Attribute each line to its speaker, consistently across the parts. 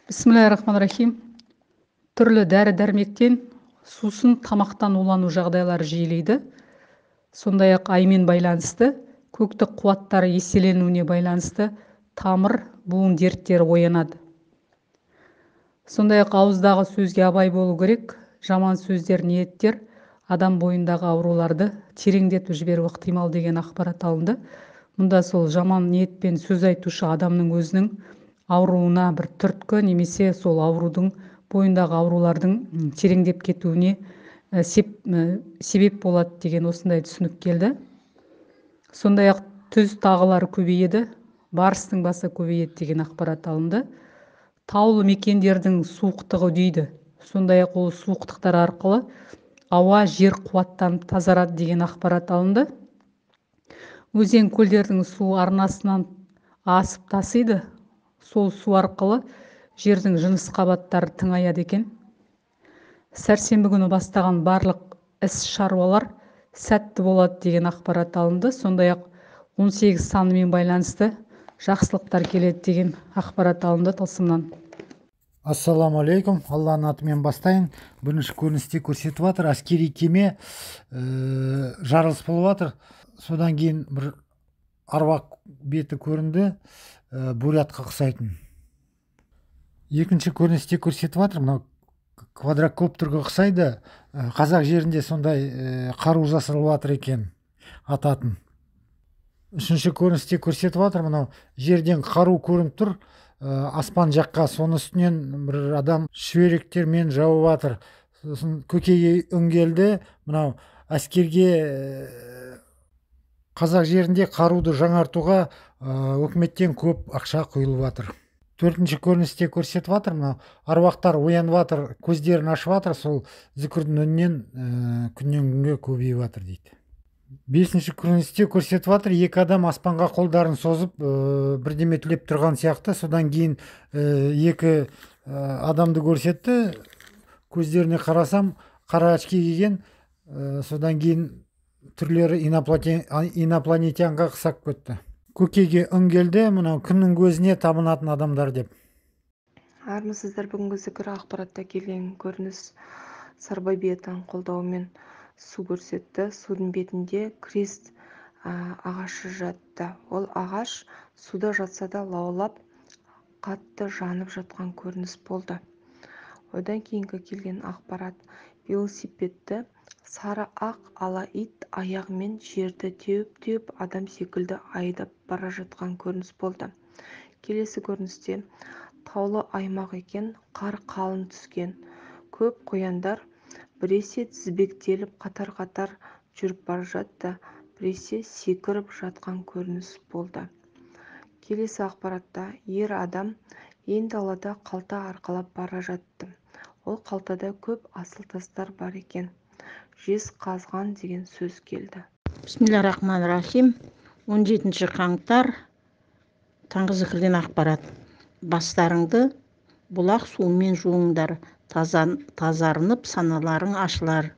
Speaker 1: Бисмиллахиррахманиррахим. Түрлі дәрі-дәрмектен сусын тамақтан улану жағдайлары жиілейді. Сондай-ақ аймен байланысты, көктік қуаттары еселенуіне байланысты тамыр, буын дерттері оянады. Сондай-ақ ауыздағы сөзге абай болу керек. Жаман сөздер, ниеттер адам бойындағы ауруларды тереңдетіп жіберуі ықтимал деген ақпарат алынды. Мұнда сол жаман ниетпен сөз айтушы адамның өзінің ауруына бір түрткі немесе сол аурудың бойындағы аурулардың тереңдеп кетуіне себеп болады деген осындай түсінік келді. Сондай-ақ түз тағылары көбейеді, барыстың басы көбейеді деген ақпарат алынды. Таулы мекендердің суықтығы дейді. Сондай-ақ ол суықтықтар арқылы ауа, жер қуаттанып тазарады деген ақпарат алынды. Өзен көлдердің су арнасынан асып тасиды. Сол су арқылы жердің жыныс қабаттары тыңаяды екен. Сәрсенбі күні бастаған барлық іс шаруалар сәтті болады деген ақпарат алынды. Сондай-ақ 18 санымен байланысты жақсылықтар келеді деген ақпарат алынды тылсымнан.
Speaker 2: Ассаламу-алейкум, Алланың атымен бастайын. Бірінші көріністе көрсетіп жатыр, әскери кеме жарылыс болып жатыр. Содан кейін бір аруақ беті көрінді, бурятқа ұқсайтын. Екінші көріністе көрсетіп жатыр, мынау квадрокоптерге ұқсайды. Қазақ жерінде сондай қару жасалып жатыр екен, ататын. Үшінші көріністе көрсетіп жатыр, мынау жерден қару көрініп тұр, аспан жаққа, соны үстінен бір адам шүберектермен жауып жатыр. Сосын көкейге үңгелді, мынау әскерге қазақ жерінде қаруды жаңартуға өкіметтен көп ақша құйылып жатыр. Төртінші көріністе көрсетіп жатыр, мынау аруақтар оянып жатыр, көздерін ашып жатыр, сол зікірдің үнінен күннен күнге көбейіп жатыр дейді. Бесінші көріністе көрсетіп жатыр, екі адам аспанға қолдарын созып бірдеме тілеп тұрған сияқты. Содан кейін екі адамды көрсетті, көздеріне қарасам қара очки киген, содан кейін түрлері инопланетянға ұқсап кетті. Көкейге үңгелді, мынау күннің көзіне табынатын адамдар деп.
Speaker 3: Армысыздар, бүгінгі зікір ақпаратта келген көрініс Сарбай биетаның қолдауымен су көрсетті. Судың бетінде крест ағашы жатты. Ол ағаш суда жатса да лаулап, қатты жанып жатқан көрініс болды. Одан кейінгі келген ақпарат велосипедті сары ақ ала ит аяғымен жерді теуіп адам секілді айдап бара жатқан көрініс болды. Келесі көріністе таулы аймақ екен, қар қалың түскен. Көп қояндар біресе тізбектеліп қатар-қатар жүріп бара жатты, біресе секіріп жатқан көрініс болды. Келесі ақпаратта ер адам ен далада қалта арқалап бара жатты. Ол қалтада көп асыл тастар бар екен. Жез қазған деген сөз келді.
Speaker 4: Бисмиллахиррахманиррахим. 17 қаңтар таңғы зікірден ақпарат. Бастарыңды бұлақ суымен жуыңдар, тазарынып саналарың ашылар.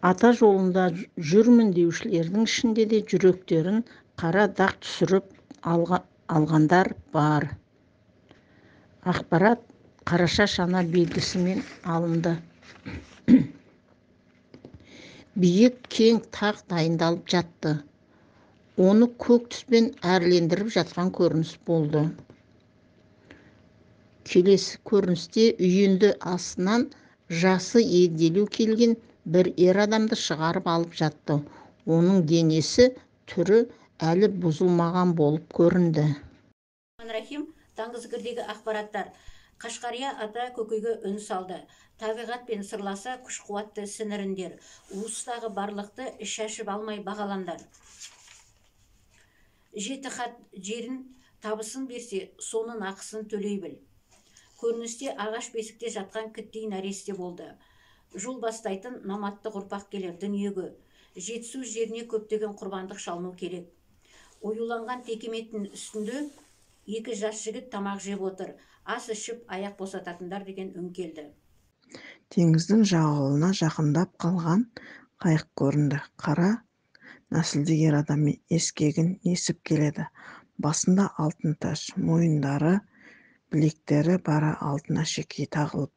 Speaker 4: Ата жолында жүрмін деушілердің ішінде де жүректерін қара дақ түсіріп алғандар бар. Ақпарат қараша шана белгісімен алынды. Биік кең тақ дайындалып жатты. Оны көк түспен әрлендіріп жатқан көрініс болды. Келесі көріністе үйінді астынан жасы егделеу келген бір ер адамды шығарып алып жатты. Оның денесі түрі әлі бұзылмаған болып көрінді.
Speaker 5: Таңғы зікірдегі ақпараттар. Қашқария ата көкейге үн салды. Табиғатпен сырласа күш қуатты сіңіріндер. Уыстағы барлықты шашып алмай бағаландар. Жеті хат жерін табысын берсе, соның ақысын төлей біл. Көріністе ағаш бесікте жатқан кіттей нәресте болды. Жол бастайтын наматты ұрпақ келер дүниеге. Жетісу жеріне көптеген құрбандық шалыну керек. Оюланған текеметтің үстінде екі жас жігіт тамақ жеп отыр. Ас ішіп аяқ босататындар деген үн келді.
Speaker 6: Теңіздің жағалауына жақындап қалған қайық көрінді. Қара нәсілді ер адаммен ескегін есіп келеді. Басында алтын таш, мойындары білектері бара алдына шекей тағынып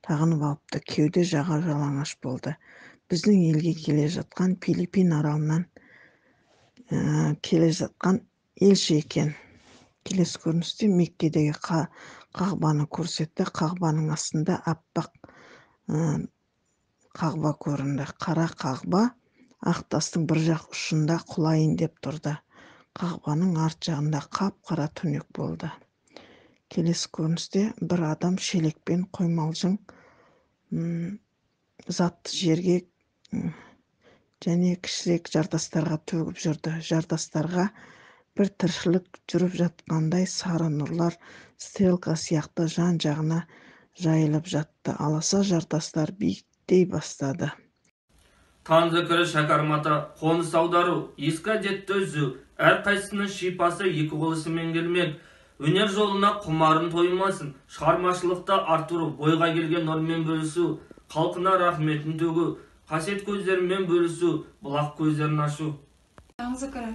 Speaker 6: алыпты. Кеуде жағы жалаңаш болды. Біздің елге келе жатқан Филиппин аралынан келе жатқан елші екен. Келесі көріністе Меккедегі қағбаны көрсетті. Қағбаның астында аппақ қағба көрінді. Қара қағба ақ тастың бір жақ ұшында құлайын деп тұрды. Қағбаның арт жағында қап-қара түнек болды. Келесі көріністе бір адам шелекпен қоймалжың затты жерге және кішірек жартастарға төгіп жүрді. Жартастарға бір тіршілік жүріп жатқандай сары нұрлар стрелка сияқты жан-жағына жайылып жатты. Аласа жартастар биіктей бастады.
Speaker 7: Танзыкыры шәкармата, қоныс аудару, ескі әдетті үзу, әрқайсысының шипасы екі қолысымен келмек. Өнер жолына құмарын тоймасын, шығармашылықта артыру, бойға келген нұрмен бөлісу, халқына рахметін төгу, қасиет көздерімен бөлісу, бұлақ көздерін ашу.
Speaker 8: Танзыкыры,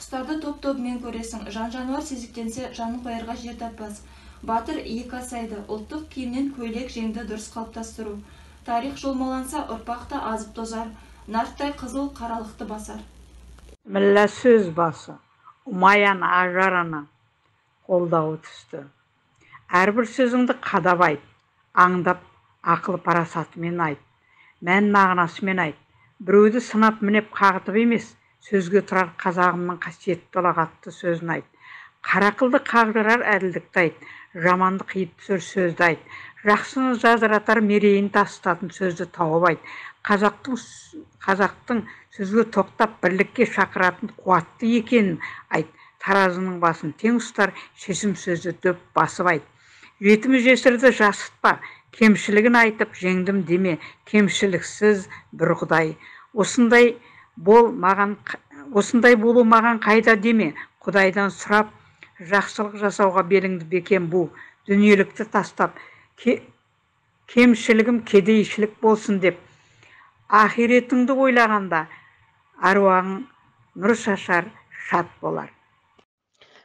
Speaker 8: құстарды топ-тобымен көресің, жан-жануар сезіктенсе жанын қоярға жер таппас. Батыр екі асайды, ұлттық киімнен көйлек жеңді дұрыс қалыптастыру. Тарих жолмаланса ұрпақта азып тозар, нарттай қызыл қаралықты басар.
Speaker 9: Міллә сөз басы, ұмаян ажарана қолдауы түсті. Әрбір сөзіңді қадап айт, аңдап ақыл парасатымен айт, мән мағынасымен айт. Біреуді сынап мінеп қағытып емес, сөзге тұрар қазағымның қасиетті ұлағатты сөзін айт. Қарақылды қағдырар әділдікті айт, жаманды қиып түсір сөзді айт. Жақсыны жазыратар мерейін тастатын сөзді тауып айт. Қазақтың сөзге тоқтап бірлікке шақыратын қуатты екенін айт. Таразының басын тең ұстар, шешім сөзді дөп басып айт. Жетімі жесірді жасытпа, кемшілігін айтып жеңдім деме, кемшіліксіз бір құдай. Осындай болу маған қайда деме, құдайдан сұрап, жақсылық жасауға беліңді бекем бу, дүниелікті тастап, кемшілігім кедейшілік болсын деп, ахиретіңді ойлағанда, аруағың нұр шашар, шат болар.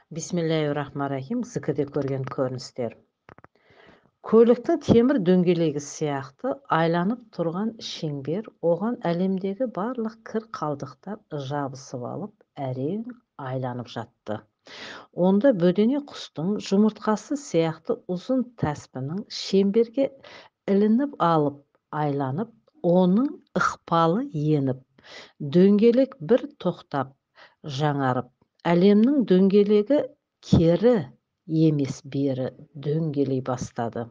Speaker 10: Бисмиллахиррахманиррахим. Зікірде көрген көріністер. Көліктің темір дөңгелегі сияқты айланып тұрған шеңбер, оған әлемдегі барлық кір қалдықтар жабысып алып, әрең айланып жатты. Онда бөдене құстың жұмыртқасы сияқты ұзын тәспінің шеңберге ілініп алып, айланып, оның ықпалы еніп, дөңгелек бір тоқтап, жаңарып, әлемнің дөңгелегі кері емес бері дөңгелей бастады.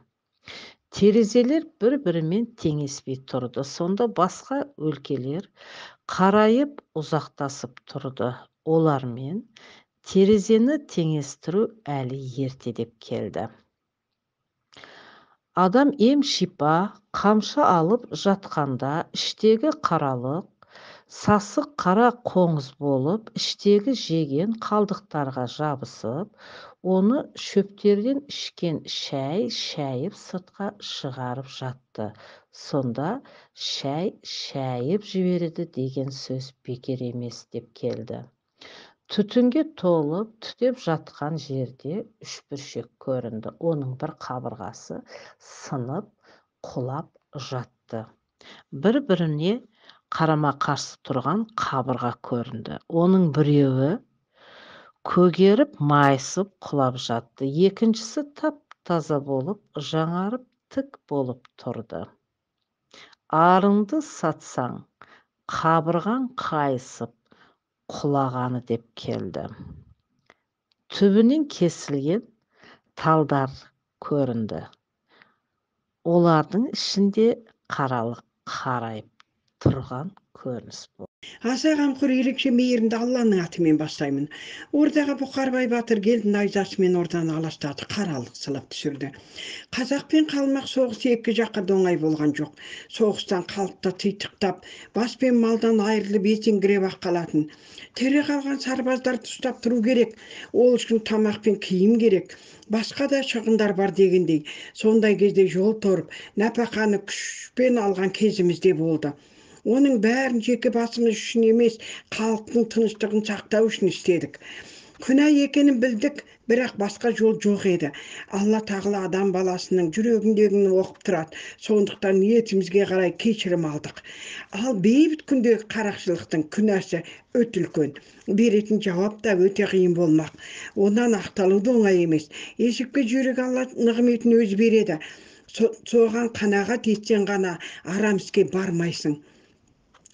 Speaker 10: Терезелер бір-бірімен теңеспей тұрды. Сонда басқа өлкелер қарайып ұзақтасып тұрды. Олармен терезені теңестіру әлі ерте деп келді. Адам ем шипа қамшы алып жатқанда іштегі қаралық, сасық қара қоңыз болып, іштегі жеген қалдықтарға жабысып, оны шөптерден ішкен шәй шәйіп сыртқа шығарып жатты. Сонда шәй шәйіп жібереді деген сөз бекер емес деп келді. Түтінге толып, түтеп жатқан жерде үшбұршек көрінді. Оның бір қабырғасы сынып, құлап жатты. Бір-біріне қарама-қарсы тұрған қабырға көрінді. Оның біреуі көгеріп, майысып, құлап жатты. Екіншісі тап-таза болып, жаңарып, тік болып тұрды. Арыңды сатсаң, қабырғаң қайысып, құлағаны деп келді. Түбінен кесілген талдар көрінді. Олардың ішінде қаралық қарайып тұрған көрініс болды.
Speaker 11: Аса қамқор ерекше мейірімді Алланың атымен бастаймын. Ордаға Бұқарбай батыр келді, найзасымен орданы аластады, қаралық сылап түсірді. Қазақ пен қалмақ соғысы екі жаққа доңай болған жоқ. Соғыстан халықты титықтап, бас пен малдан айырылып есеңгіреп ақ қалатын. Тірі қалған сарбаздарды ұстап тұру керек. Ол үшін тамақ пен киім керек. Басқа да шығындар бар дегендей. Сондай кезде жол торып, нәпақаны күшпен алған кезімізде болды. Оның бәрін жеке басымыз үшін емес, халықтың тыныштығын сақтау үшін істедік. Күнә екенін білдік, бірақ басқа жол жоқ еді. Алла тағала адам баласының жүрегіндегіні оқып тұрады. Сондықтан ниетімізге қарай кешірім алдық. Ал бейбіт күндегі қарақшылықтың күнәсі өте үлкен. Беретін жауап да өте қиын болмақ. Онан ақталу да оңай емес. Есепке жүйрік Алла нығметін өзі береді. Соған қанағат етсең ғана арам іске бармайсың.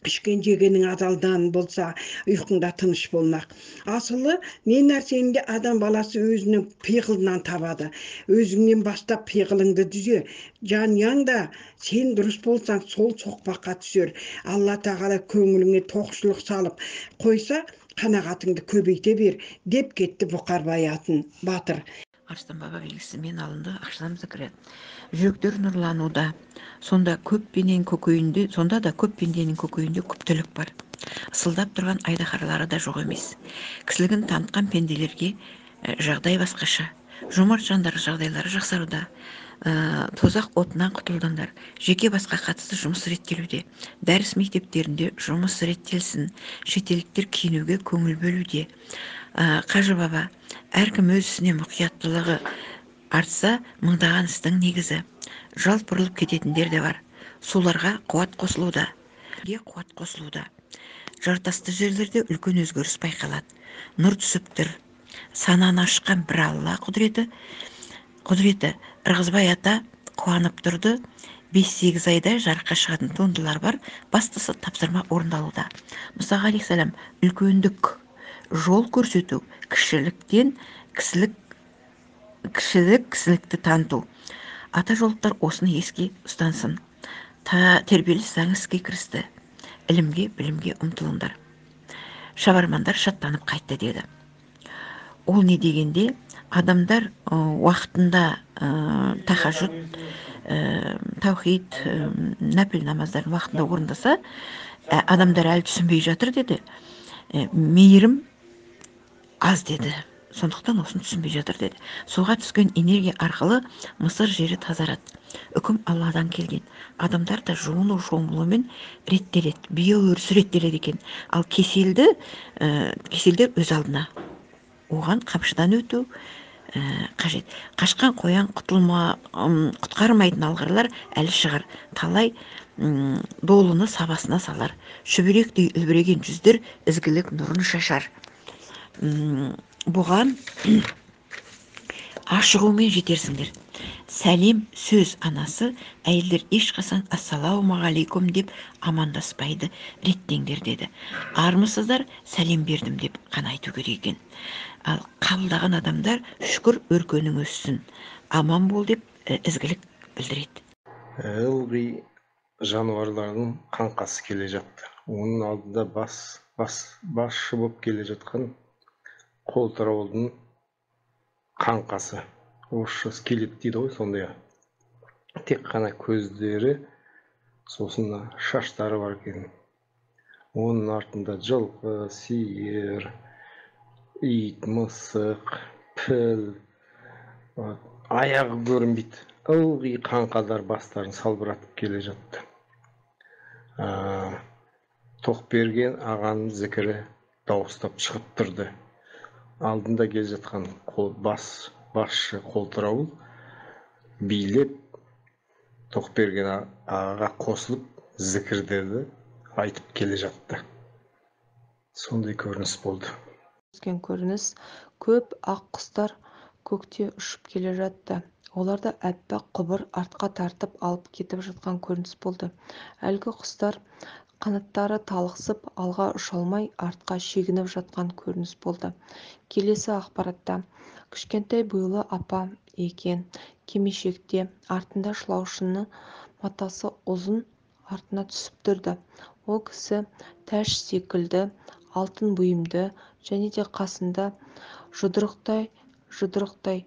Speaker 11: Ішкен жегенің адалдан болса, ұйқыңда тыныш болмақ. Асылы не нәрсені де адам баласы өзінің пиғылынан табады. Өзіңнен бастап пиғылыңды түзе. Жанұяң да сен дұрыс болсаң, сол соқпаққа түсер. Алла тағала көңіліңе тоқшылық салып қойса, қанағатыңды көбейте бер, деп кетті Бұқарбай батыр.
Speaker 12: Арыстан баба белгісімен алынды, ақшам зікірі. Жүректер нұрлануда, сонда да көп пенденің көкейінде көптілік бар. Ысылдап тұрған айдаһарлары да жоқ емес. Кісілігін танытқан пенделерге жағдай басқаша. Жомарт жандар жағдайлары жақсаруда. Тозақ отынан құтылдандар. Жеке басқа қатысты жұмыс реттелуде. Дәріс мектептерінде жұмыс реттелсін. Шетелдіктер киінуге көңіл бөлуде. Қажы баба, әркім өз ісіне мұқияттылығы артса, мыңдаған істің негізі. Жалт бұрылып кететіндер де бар. Соларға қуат қосылуда. Жартасты жерлерде үлкен өзгеріс байқалады. Нұр түсіп тұр. Сананы ашқан бір Алла құдіреті. Ырғызбай ата қуанып тұрды. 5-8 айда жарыққа шығатын туындылар бар. Бастысы тапсырма орындалуда. Мұса алейхиссалам үлкендік жол көрсету, кішіліктен кісілікті таныту. Ата жолықтар осыны еске ұстансын. Тербеліс заң іске кірісті. Ілімге, білімге ұмтылыңдар. Шабармандар шаттанып қайтты деді. Ол не дегенде, адамдар уақытында тахажуд, таухид, нәпіл намаздарын уақытында орындаса, адамдар әлі түсінбей жатыр деді. Мейірім аз деді. Сондықтан осын түсінбей жатыр деді. Суға түскен энергия арқылы Мысыр жері тазарады. Үкім Алладан келген. Адамдар да жуыну шомылумен реттеледі. Биоөрісі реттеледі екен. Ал кеселдер өз алдына. Оған қамшыдан өту қажет. Қашқан қоян құтқармайтын алғырлар әлі шығар. Талай долыны сабасына салар. Шүберектей үлбіреген жүздер ізгілік нұрын шашар. Бұған ашығумен жетерсіңдер. Сәлем сөз анасы, әйелдер ешқасан ассалаумағалейкум деп амандаспайды, реттеңдер деді. Армысыздар, сәлем бердім деп қана айту керек екен. Ал қабылдаған адамдар шүкір өркенің өссін, аман бол деп ізгілік білдіреді.
Speaker 13: Ылғи жануарлардың қаңқасы келе жатты. Оның алдында басшы болып келе жатқан қолтыраудың қаңқасы. Орысша скелет дейді ғой, сондай. Тек қана көздері, сосын шаштары бар екен. Оның артында жылқы, сиыр, ит, мысық, піл, аяғы көрінбейді. Ылғи қаңқадар бастарын салбыратып келе жатты. Тоқберген ағаның зікірі дауыстап шығып тұрды. Алдында келе жатқан басшы қолтырауыл билеп Тоқберген ағаға қосылып зікірдерді айтып келе жатты. Сондай көрініс болды.
Speaker 3: Көрініс көп ақ құстар көкте ұшып келе жатты. Оларда әппақ құбыр артқа тартып алып кетіп жатқан көрініс болды. Әлгі құстар қанаттары талықсып, алға ұша алмай, артқа шегініп жатқан көрініс болды. Келесі ақпаратта кішкентай бойлы апа екен, кимешекте, артында шылаушыны матасы ұзын артына түсіп тұрды. Ол кісі тәж секілді, алтын бұйымды, және де қасында жұдырықтай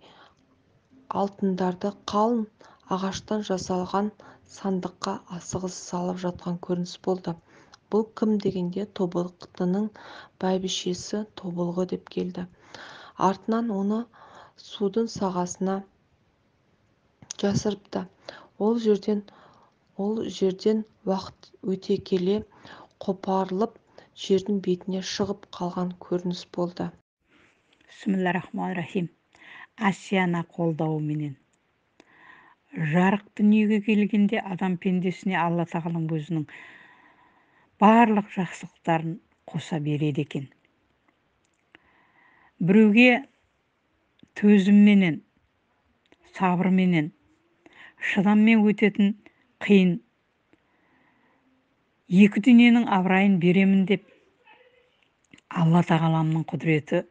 Speaker 3: алтындарды қалың ағаштан жасалған сандыққа асығыс салып жатқан көрініс болды. Бұл кім дегенде тобықтының бәйбішесі Тобылғы деп келді. Артынан оны судың сағасына жасырыпты. Ол жерден уақыт өте келе қопарылып жердің бетіне шығып қалған көрініс болды.
Speaker 9: Бисмиллахиррахманиррахим. Асияна қолдауы менен. Жарық дүниеге келгенде адам пендесіне Алла тағалам өзінің барлық жақсылықтарын қоса береді екен. Біреуге төзімменен, сабырменен, шыдаммен өтетін қиын екі дүниенің абырайын беремін деп Алла тағаламның құдіреті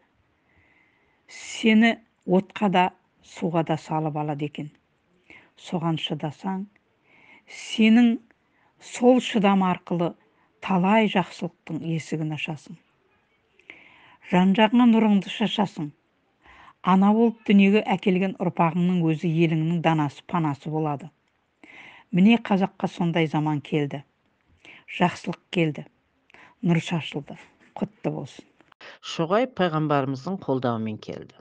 Speaker 9: сені отқа да, суға да салып алады екен. Соған шыдасаң, сенің сол шыдам арқылы талай жақсылықтың есігін ашасың. Жан-жағыңа нұрыңды шашасың. Ана болып дүниеге әкелген ұрпағыңның өзі еліңнің данасы, панасы болады. Міне қазаққа сондай заман келді. Жақсылық келді. Нұр шашылды. Құтты болсын.
Speaker 10: Шоғай пайғамбарымыздың қолдауымен келді.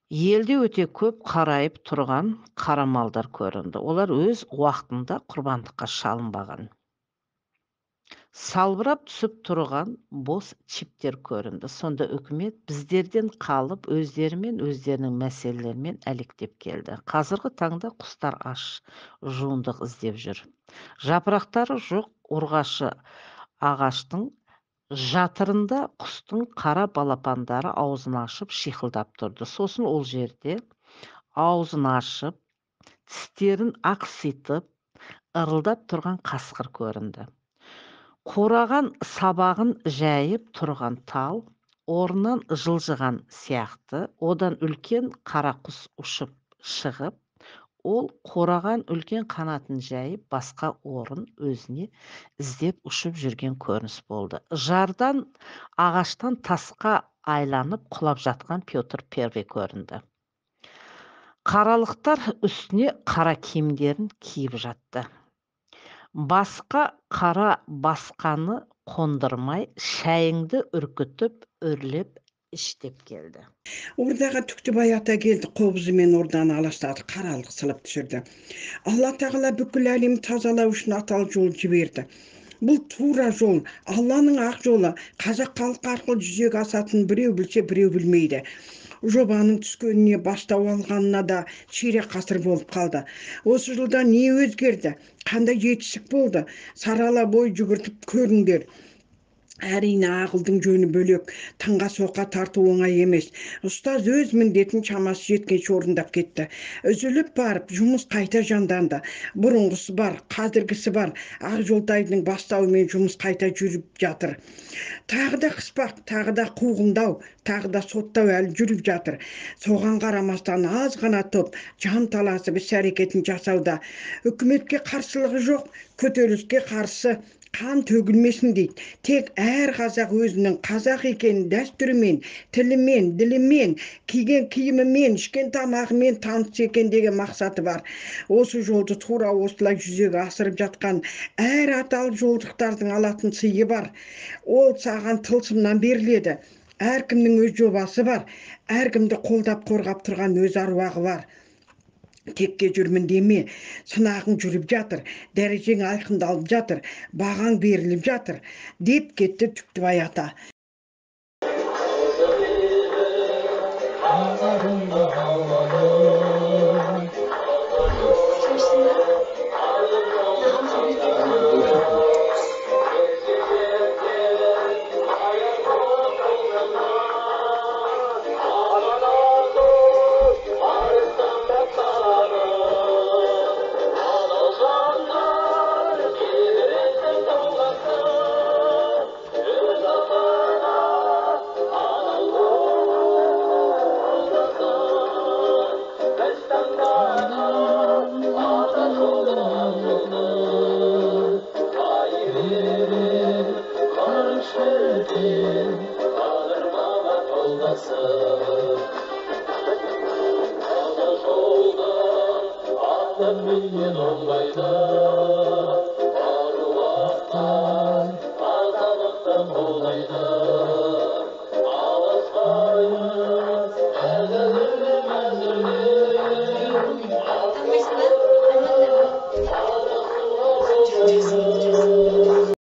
Speaker 10: Елде өте көп қарайып тұрған қара малдар көрінді. Олар өз уақытында құрбандыққа шалынбаған. Салбырап түсіп тұрған бос чиптер көрінді. Сонда үкімет біздерден қалып, өздерімен өздерінің мәселелерімен әлектеп келді. Қазіргі таңда құстар аш, жуындық іздеп жүр. Жапырақтары жоқ ұрғашы ағаштың жатырында құстың қара балапандары аузын ашып шиқылдап тұрды. Сосын ол жерде аузын ашып, тістерін ақситып, ырылдап тұрған қасқыр көрінді. Қораған сабағын жайып тұрған тал, орнынан жылжыған сияқты, одан үлкен қара құс ұшып шығып, ол қораған үлкен қанатын жайып, басқа орын өзіне іздеп ұшып жүрген көрініс болды. Жардан ағаштан тасқа айланып құлап жатқан Петр Первый көрінді. Қаралықтар үстіне қара киімдерін киіп жатты. Басқа қара басқаны қондырмай, шайыңды үркітіп, үрлеп, іштеп келді.
Speaker 11: Ордаға Түктібай ата келді, қобызымен орданы аластады, қаралық сылып түсірді. Алла тағала бүкіл әлемді тазалау үшін аталы жол жіберді. Бұл тура жол, Алланың ақ жолы, қазақ халқы арқылы жүзеге асатын біреу білсе, біреу білмейді. Жобаның түскеніне бастау алғанына да ширек ғасыр болып қалды. Осы жылда не өзгерді? Қандай жетістік болды? Сарала бой жүгіртіп көріңдер. Әрине ақылдың жөні бөлек, таңға соқа тарту оңай емес. Ұстаз өз міндетін шамасы жеткенше орындап кетті. Үзіліп барып, жұмыс қайта жанданды. Бұрынғысы бар, қазіргісі бар. Ақжолтайдың бастауымен жұмыс қайта жүріп жатыр. Тағы да қыспақ, тағы да қуғындау, тағы да соттау әлі жүріп жатыр. Соған қарамастан аз ғана топ жан таласып іс әрекетін жасауда. Үкіметке қарсылығы жоқ, көтеріліске қарсы қан төгілмесін дейді. Тек әр қазақ өзінің қазақ екенін дәстүрімен, тілімен, ділімен, киген киімімен, ішкен тамағымен таныс екен деген мақсаты бар. Осы жолды тура осылай жүзеге асырып жатқан әр аталып жолдықтардың алатын сыйы бар. Ол саған тылсымнан беріледі. Әркімнің өз жобасы бар. Әркімді қолдап қорғап тұрған өз аруағы бар. Текке жүрмін деме, сынағың жүріп жатыр, дәрежең айқындалып жатыр, бағаң беріліп жатыр, деп кетті Түктібай ата.